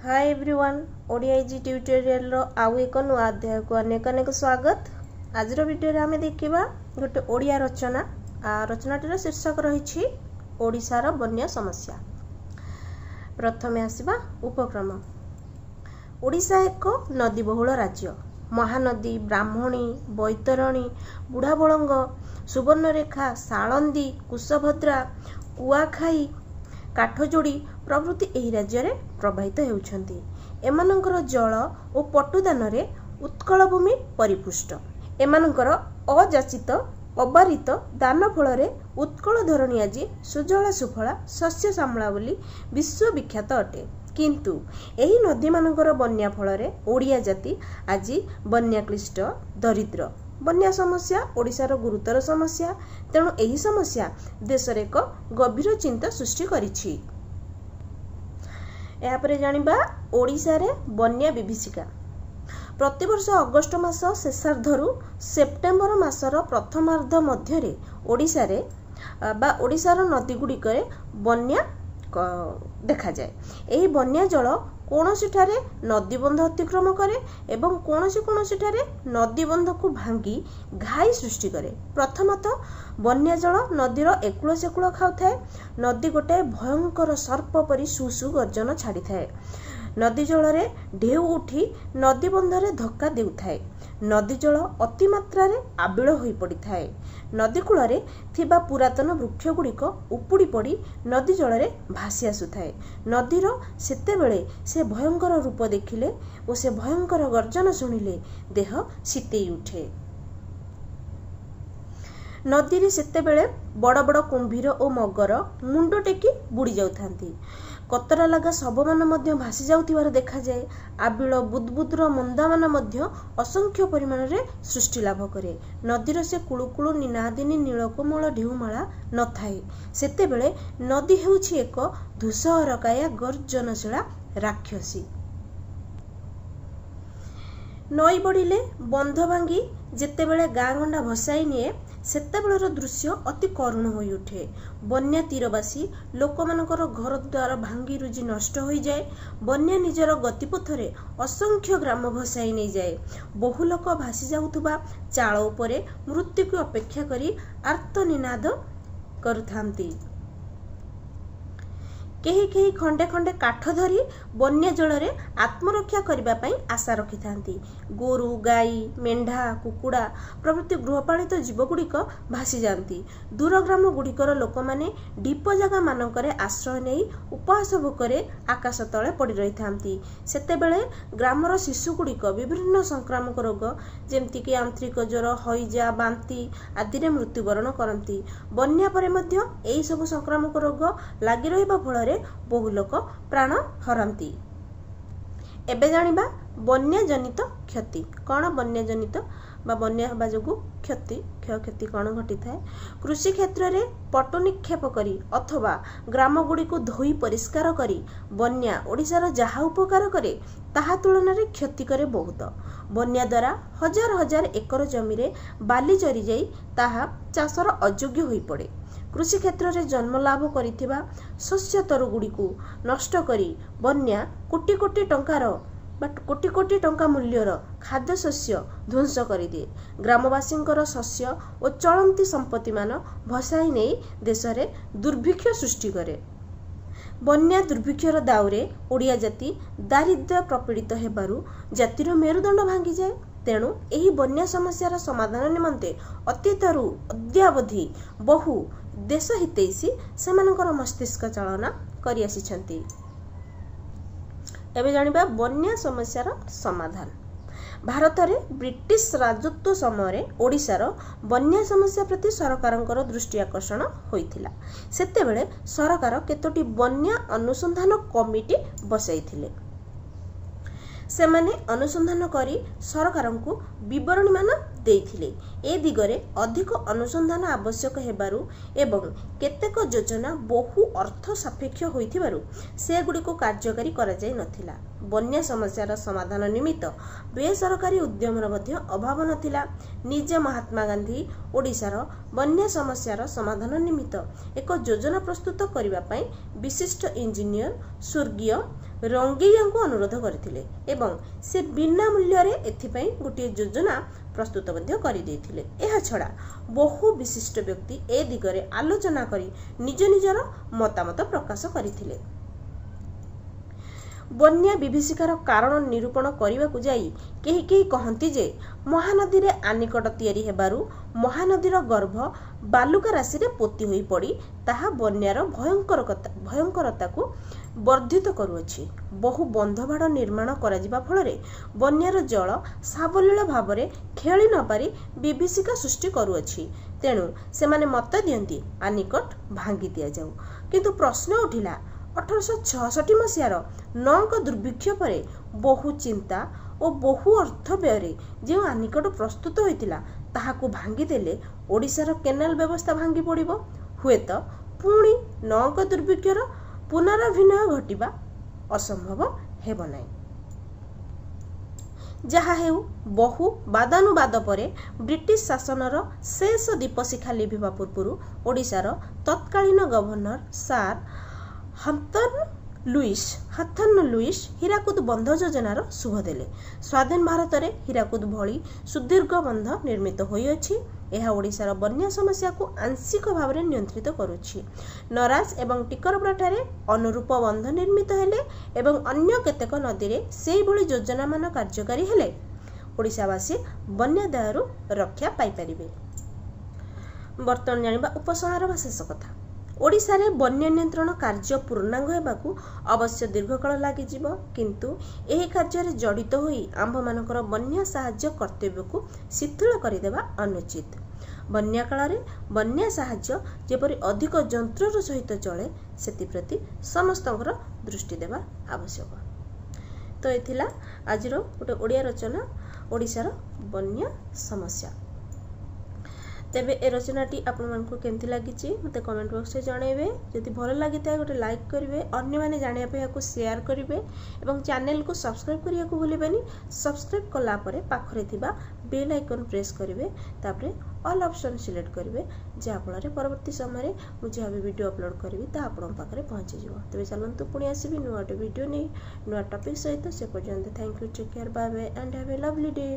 ହାଏ everyone, Odia easy ଟ୍ୟୁଟୋରିଆଲର ଆଉ ଏକ ନୂଆ ଅଧ୍ୟାୟକୁ ଅନେକ ଅନେକ ସ୍ୱାଗତ। ଆଜିର ଭିଡ଼ିଓରେ ଆମେ ଦେଖିବା ଗୋଟେ ଓଡ଼ିଆ ରଚନା। ରଚନାଟିର ଶୀର୍ଷକ ରହିଛି ଓଡ଼ିଶାର ବନ୍ୟା ସମସ୍ୟା। ପ୍ରଥମେ ଆସିବା ଉପକ୍ରମ। ଓଡ଼ିଶା ଏକ ନଦୀବହୁଳ ରାଜ୍ୟ। ମହାନଦୀ, ବ୍ରାହ୍ମଣୀ, ବୈତରଣୀ, ବୁଢ଼ାବଳଙ୍ଗ, ସୁବର୍ଣ୍ଣରେଖା, ସାଳନ୍ଦୀ, କୁଶଭଦ୍ରା, କୁଆଖାଇ, କାଠଯୋଡ଼ି ପ୍ରଭୃତି ଏହି ରାଜ୍ୟରେ ପ୍ରବାହିତ ହେଉଛନ୍ତି। ଏମାନଙ୍କର ଜଳ ଓ ପଟୁଦାନରେ ଉତ୍କଳ ଭୂମି ପରିପୁଷ୍ଟ। ଏମାନଙ୍କର ଅଯାଚିତ ଅବାରିତ ଦାନ ଫଳରେ ଉତ୍କଳ ଧରଣୀ ଆଜି ସୁଜଳା ସୁଫଳା ଶସ୍ୟ ଶ୍ୟାମଳା ବୋଲି ବିଶ୍ୱବିଖ୍ୟାତ ଅଟେ। କିନ୍ତୁ ଏହି ନଦୀମାନଙ୍କର ବନ୍ୟା ଫଳରେ ଓଡ଼ିଆ ଜାତି ଆଜି ବନ୍ୟାକ୍ଲିଷ୍ଟ ଦରିଦ୍ର। ବନ୍ୟା ସମସ୍ୟା ଓଡ଼ିଶାର ଗୁରୁତର ସମସ୍ୟା। ତେଣୁ ଏହି ସମସ୍ୟା ଦେଶରେ ଏକ ଗଭୀର ଚିନ୍ତା ସୃଷ୍ଟି କରିଛି। ଏହାପରେ ଜାଣିବା ଓଡ଼ିଶାରେ ବନ୍ୟା ବିଭୀଷିକା। ପ୍ରତିବର୍ଷ ଅଗଷ୍ଟ ମାସ ଶେଷାର୍ଦ୍ଧରୁ ସେପ୍ଟେମ୍ବର ମାସର ପ୍ରଥମାର୍ଦ୍ଧ ମଧ୍ୟରେ ଓଡ଼ିଶାରେ ବା ଓଡ଼ିଶାର ନଦୀଗୁଡ଼ିକରେ ବନ୍ୟା ଦେଖାଯାଏ। ଏହି ବନ୍ୟା ଜଳ କୌଣସିଠାରେ ନଦୀବନ୍ଧ ଅତିକ୍ରମ କରେ ଏବଂ କୌଣସି କୌଣସିଠାରେ ନଦୀବନ୍ଧକୁ ଭାଙ୍ଗି ଘାଇ ସୃଷ୍ଟି କରେ। ପ୍ରଥମତଃ ବନ୍ୟା ଜଳ ନଦୀର ଏକୂଳ ସେକୂଳ ଖାଉଥାଏ। ନଦୀ ଗୋଟାଏ ଭୟଙ୍କର ସର୍ପ ପରି ସୁ ସୁ ଗର୍ଜନ ଛାଡ଼ିଥାଏ। ନଦୀ ଜଳରେ ଢେଉ ଉଠି ନଦୀବନ୍ଧରେ ଧକ୍କା ଦେଉଥାଏ। ନଦୀ ଜଳ ଅତିମାତ୍ରାରେ ଆବିଳ ହୋଇପଡ଼ିଥାଏ। ନଦୀ କୂଳରେ ଥିବା ପୁରାତନ ବୃକ୍ଷଗୁଡ଼ିକ ଉପୁଡ଼ି ପଡ଼ି ନଦୀ ଜଳରେ ଭାସି ଆସୁଥାଏ। ନଦୀର ସେତେବେଳେ ସେ ଭୟଙ୍କର ରୂପ ଦେଖିଲେ ଓ ସେ ଭୟଙ୍କର ଗର୍ଜନ ଶୁଣିଲେ ଦେହ ଶୀତେଇ ଉଠେ। ନଦୀରେ ସେତେବେଳେ ବଡ଼ ବଡ଼ କୁମ୍ଭୀର ଓ ମଗର ମୁଣ୍ଡ ଟେକି ବୁଡ଼ି ଯାଉଥାନ୍ତି। କତରା ଲଗା ଶବମାନ ମଧ୍ୟ ଭାସି ଯାଉଥିବାର ଦେଖାଯାଏ। ଆବିଳ ବୁଦବୁଦର ମନ୍ଦାମାନ ମଧ୍ୟ ଅସଂଖ୍ୟ ପରିମାଣରେ ସୃଷ୍ଟି ଲାଭ କରେ। ନଦୀର ସେ କୁଳୁକୁଳୁ ନିନାଦିନୀ ନୀଳକୋମଳ ଢେଉମାଳା ନଥାଏ। ସେତେବେଳେ ନଦୀ ହେଉଛି ଏକ ଧୂସରକାୟା ଗର୍ଜନଶୀଳା ରାକ୍ଷସୀ। ନଈ ବଢ଼ିଲେ ବନ୍ଧ ଭାଙ୍ଗି ଯେତେବେଳେ ଗାଁ ଗଣ୍ଡା ଭସାଇ ନିଏ, ସେତେବେଳର ଦୃଶ୍ୟ ଅତି କରୁଣ ହୋଇଉଠେ। ବନ୍ୟା ତୀରବାସୀ ଲୋକମାନଙ୍କର ଘରଦ୍ୱାର ଭାଙ୍ଗି ରୁଜି ନଷ୍ଟ ହୋଇଯାଏ। ବନ୍ୟା ନିଜର ଗତିପଥରେ ଅସଂଖ୍ୟ ଗ୍ରାମ ଭସାଇ ନେଇଯାଏ। ବହୁ ଲୋକ ଭାସି ଯାଉଥିବା ଚାଳ ଉପରେ ମୃତ୍ୟୁକୁ ଅପେକ୍ଷା କରି ଆର୍ତ୍ତନିନାଦ କରୁଥାନ୍ତି। କେହି କେହି ଖଣ୍ଡେ ଖଣ୍ଡେ କାଠ ଧରି ବନ୍ୟା ଜଳରେ ଆତ୍ମରକ୍ଷା କରିବା ପାଇଁ ଆଶା ରଖିଥାନ୍ତି। ଗୋରୁ ଗାଈ, ମେଣ୍ଢା, କୁକୁଡ଼ା ପ୍ରଭୃତି ଗୃହପାଳିତ ଜୀବଗୁଡ଼ିକ ଭାସିଯାଆନ୍ତି। ଦୂର ଗ୍ରାମ ଗୁଡ଼ିକର ଲୋକମାନେ ଢିପ ଜାଗାମାନଙ୍କରେ ଆଶ୍ରୟ ନେଇ ଉପବାସ ଭୋକରେ ଆକାଶ ତଳେ ପଡ଼ି ରହିଥାନ୍ତି। ସେତେବେଳେ ଗ୍ରାମର ଶିଶୁଗୁଡ଼ିକ ବିଭିନ୍ନ ସଂକ୍ରାମକ ରୋଗ, ଯେମିତିକି ଆନ୍ତ୍ରିକ ଜ୍ୱର, ହଇଜା, ବାନ୍ତି ଆଦିରେ ମୃତ୍ୟୁବରଣ କରନ୍ତି। ବନ୍ୟା ପରେ ମଧ୍ୟ ଏହିସବୁ ସଂକ୍ରାମକ ରୋଗ ଲାଗି ରହିବା ଫଳରେ ବହୁ ଲୋକ ପ୍ରାଣ ହରାନ୍ତି। ଏବେ ଜାଣିବା ବନ୍ୟା ଜନିତ କ୍ଷତି କ'ଣ? ବନ୍ୟା ଜନିତ ବା ବନ୍ୟା ହେବା ଯୋଗୁଁ କ୍ଷତି କ୍ଷୟକ୍ଷତି କ'ଣ ଘଟିଥାଏ? କୃଷି କ୍ଷେତ୍ରରେ ପଟୁ ନିକ୍ଷେପ କରି ଅଥବା ଗ୍ରାମଗୁଡ଼ିକୁ ଧୋଇ ପରିଷ୍କାର କରି ବନ୍ୟା ଓଡ଼ିଶାର ଯାହା ଉପକାର କରେ, ତାହା ତୁଳନାରେ କ୍ଷତି କରେ ବହୁତ। ବନ୍ୟା ଦ୍ୱାରା ହଜାର ହଜାର ଏକର ଜମିରେ ବାଲି ଜରିଯାଇ ତାହା ଚାଷର ଅଯୋଗ୍ୟ ହୋଇପଡ଼େ। କୃଷି କ୍ଷେତ୍ରରେ ଜନ୍ମ ଲାଭ କରିଥିବା ଶସ୍ୟତରୁଗୁଡ଼ିକୁ ନଷ୍ଟ କରି ବନ୍ୟା କୋଟି କୋଟି ଟଙ୍କାର ବା କୋଟି କୋଟି ଟଙ୍କା ମୂଲ୍ୟର ଖାଦ୍ୟଶସ୍ୟ ଧ୍ୱଂସ କରିଦିଏ। ଗ୍ରାମବାସୀଙ୍କର ଶସ୍ୟ ଓ ଚଳନ୍ତି ସମ୍ପତ୍ତିମାନ ଭସାଇ ନେଇ ଦେଶରେ ଦୁର୍ଭିକ୍ଷ ସୃଷ୍ଟି କରେ। ବନ୍ୟା ଦୁର୍ଭିକ୍ଷର ଦାଉରେ ଓଡ଼ିଆ ଜାତି ଦାରିଦ୍ର୍ୟ ପ୍ରପୀଡ଼ିତ ହେବାରୁ ଜାତିର ମେରୁଦଣ୍ଡ ଭାଙ୍ଗିଯାଏ। ତେଣୁ ଏହି ବନ୍ୟା ସମସ୍ୟାର ସମାଧାନ ନିମନ୍ତେ ଅତୀତରୁ ଅଦ୍ୟାବଧି ବହୁ ଦେଶ ହିତୈଷୀ ସେମାନଙ୍କର ମସ୍ତିଷ୍କ ଚାଳନା କରିଆସିଛନ୍ତି। ଏବେ ଜାଣିବା ବନ୍ୟା ସମସ୍ୟାର ସମାଧାନ। ଭାରତରେ ବ୍ରିଟିଶ ରାଜତ୍ୱ ସମୟରେ ଓଡ଼ିଶାର ବନ୍ୟା ସମସ୍ୟା ପ୍ରତି ସରକାରଙ୍କର ଦୃଷ୍ଟି ଆକର୍ଷଣ ହୋଇଥିଲା। ସେତେବେଳେ ସରକାର କେତୋଟି ବନ୍ୟା ଅନୁସନ୍ଧାନ କମିଟି ବସାଇଥିଲେ। ସେମାନେ ଅନୁସନ୍ଧାନ କରି ସରକାରଙ୍କୁ ବିବରଣୀମାନ ଦେଇଥିଲେ। ଏ ଦିଗରେ ଅଧିକ ଅନୁସନ୍ଧାନ ଆବଶ୍ୟକ ହେବାରୁ ଏବଂ କେତେକ ଯୋଜନା ବହୁ ଅର୍ଥ ସାପେକ୍ଷ ହୋଇଥିବାରୁ ସେଗୁଡ଼ିକୁ କାର୍ଯ୍ୟକାରୀ କରାଯାଇ ନଥିଲା। ବନ୍ୟା ସମସ୍ୟାର ସମାଧାନ ନିମିତ୍ତ ବେସରକାରୀ ଉଦ୍ୟମର ମଧ୍ୟ ଅଭାବ ନଥିଲା। ନିଜେ ମହାତ୍ମା ଗାନ୍ଧୀ ଓଡ଼ିଶାର ବନ୍ୟା ସମସ୍ୟାର ସମାଧାନ ନିମିତ୍ତ ଏକ ଯୋଜନା ପ୍ରସ୍ତୁତ କରିବା ପାଇଁ ବିଶିଷ୍ଟ ଇଞ୍ଜିନିୟର ସ୍ୱର୍ଗୀୟ ରଙ୍ଗେଇଆଙ୍କୁ ଅନୁରୋଧ କରିଥିଲେ ଏବଂ ସେ ବିନା ମୂଲ୍ୟରେ ଏଥିପାଇଁ ଗୋଟିଏ ଯୋଜନା ପ୍ରସ୍ତୁତ ମଧ୍ୟ କରିଦେଇଥିଲେ। ଏହାଛଡ଼ା ବହୁ ବିଶିଷ୍ଟ ବ୍ୟକ୍ତି ଏ ଦିଗରେ ଆଲୋଚନା କରି ନିଜ ନିଜର ମତାମତ ପ୍ରକାଶ କରିଥିଲେ। ବନ୍ୟା ବିଭୀଷିକାର କାରଣ ନିରୂପଣ କରିବାକୁ ଯାଇ କେହି କେହି କହନ୍ତି ଯେ ମହାନଦୀରେ ଆନିକଟ ତିଆରି ହେବାରୁ ମହାନଦୀର ଗର୍ଭ ବାଲୁକା ରାଶିରେ ପୋତି ହୋଇ ପଡ଼ି ତାହା ବନ୍ୟାର ଭୟଙ୍କରତାକୁ ବର୍ଦ୍ଧିତ କରୁଅଛି। ବହୁ ବନ୍ଧବାଡ଼ ନିର୍ମାଣ କରାଯିବା ଫଳରେ ବନ୍ୟାର ଜଳ ସାବଲୀଳ ଭାବରେ ଖେଳି ନପାରି ବିଭୀଷିକା ସୃଷ୍ଟି କରୁଅଛି। ତେଣୁ ସେମାନେ ମତ ଦିଅନ୍ତି, ଆନିକଟ ଭାଙ୍ଗି ଦିଆଯାଉ। କିନ୍ତୁ ପ୍ରଶ୍ନ ଉଠିଲା, 1866 ମସିହାର ନଅଙ୍କ ଦୁର୍ଭିକ୍ଷ ପରେ ବହୁ ଚିନ୍ତା ଓ ବହୁ ଅର୍ଥ ବ୍ୟୟରେ ଯେଉଁ ଆନିକଟ ପ୍ରସ୍ତୁତ ହୋଇଥିଲା, ତାହାକୁ ଭାଙ୍ଗିଦେଲେ ଓଡ଼ିଶାର କେନାଲ ବ୍ୟବସ୍ଥା ଭାଙ୍ଗି ପଡ଼ିବ। ହୁଏତ ପୁଣି ନଅଙ୍କ ଦୁର୍ଭିକ୍ଷର ପୁନରାଭିନୟ ଘଟିବା ଅସମ୍ଭବ ହେବ ନାହିଁ। ଯାହା ହେଉ, ବହୁ ବାଦାନୁବାଦ ପରେ ବ୍ରିଟିଶ ଶାସନର ଶେଷ ଦୀପଶିଖା ଲିଭିବା ପୂର୍ବରୁ ଓଡ଼ିଶାର ତତ୍କାଳୀନ ଗଭର୍ଣ୍ଣର ସାର୍ ହଥର୍ନ ଲୁଇସ୍ ହୀରାକୁଦ ବନ୍ଧ ଯୋଜନାର ଶୁଭ ଦେଲେ। ସ୍ୱାଧୀନ ଭାରତରେ ହୀରାକୁଦ ଭଳି ସୁଦୀର୍ଘ ବନ୍ଧ ନିର୍ମିତ ହୋଇଅଛି। ଏହା ଓଡ଼ିଶାର ବନ୍ୟା ସମସ୍ୟାକୁ ଆଂଶିକ ଭାବରେ ନିୟନ୍ତ୍ରିତ କରୁଛି। ନରାଜ ଏବଂ ଟିକରପଡ଼ାଠାରେ ଅନୁରୂପ ବନ୍ଧ ନିର୍ମିତ ହେଲେ ଏବଂ ଅନ୍ୟ କେତେକ ନଦୀରେ ସେଇଭଳି ଯୋଜନାମାନ କାର୍ଯ୍ୟକାରୀ ହେଲେ ଓଡ଼ିଶାବାସୀ ବନ୍ୟା ଦାୟରୁ ରକ୍ଷା ପାଇପାରିବେ। ବର୍ତ୍ତମାନ ଜାଣିବା ଉପସଂହାର ବା ଶେଷ କଥା। ଓଡ଼ିଶାରେ ବନ୍ୟା ନିୟନ୍ତ୍ରଣ କାର୍ଯ୍ୟ ପୂର୍ଣ୍ଣାଙ୍ଗ ହେବାକୁ ଅବଶ୍ୟ ଦୀର୍ଘକାଳ ଲାଗିଯିବ, କିନ୍ତୁ ଏହି କାର୍ଯ୍ୟରେ ଜଡ଼ିତ ହୋଇ ଆମ୍ଭମାନଙ୍କର ବନ୍ୟା ସାହାଯ୍ୟ କର୍ତ୍ତବ୍ୟକୁ ଶିଥିଳ କରିଦେବା ଅନୁଚିତ। ବନ୍ୟା କାଳରେ ବନ୍ୟା ସାହାଯ୍ୟ ଯେପରି ଅଧିକ ଯନ୍ତ୍ରର ସହିତ ଚଳେ, ସେଥିପ୍ରତି ସମସ୍ତଙ୍କର ଦୃଷ୍ଟି ଦେବା ଆବଶ୍ୟକ। ତ ଏ ଥିଲା ଆଜିର ଗୋଟେ ଓଡ଼ିଆ ରଚନା, ଓଡ଼ିଶାର ବନ୍ୟା ସମସ୍ୟା। ତେବେ ଏ ରଚନାଟି ଆପଣମାନଙ୍କୁ କେମିତି ଲାଗିଛି, ମୋତେ କମେଣ୍ଟ ବକ୍ସରେ ଜଣାଇବେ। ଯଦି ଭଲ ଲାଗିଥାଏ, ଗୋଟେ ଲାଇକ୍ କରିବେ, ଅନ୍ୟମାନେ ଜାଣିବା ପାଇଁ ଏହାକୁ ସେୟାର କରିବେ ଏବଂ ଚ୍ୟାନେଲକୁ ସବସ୍କ୍ରାଇବ୍ କରିବାକୁ ଭୁଲିବେନି। ସବସ୍କ୍ରାଇବ୍ କଲା ପରେ ପାଖରେ ଥିବା ବେଲ୍ ଆଇକନ୍ ପ୍ରେସ୍ କରିବେ, ତାପରେ ଅଲ୍ ଅପସନ୍ ସିଲେକ୍ଟ କରିବେ, ଯାହାଫଳରେ ପରବର୍ତ୍ତୀ ସମୟରେ ମୁଁ ଯାହା ବି ଭିଡ଼ିଓ ଅପଲୋଡ଼ କରିବି, ତାହା ଆପଣଙ୍କ ପାଖରେ ପହଞ୍ଚିଯିବ। ତେବେ ଚାଲନ୍ତୁ, ପୁଣି ଆସିବି ନୂଆ ଗୋଟେ ଭିଡ଼ିଓ ନେଇ ନୂଆ ଟପିକ୍ ସହିତ। ସେ ପର୍ଯ୍ୟନ୍ତ thank you, take care, bye bye and have a lovely day.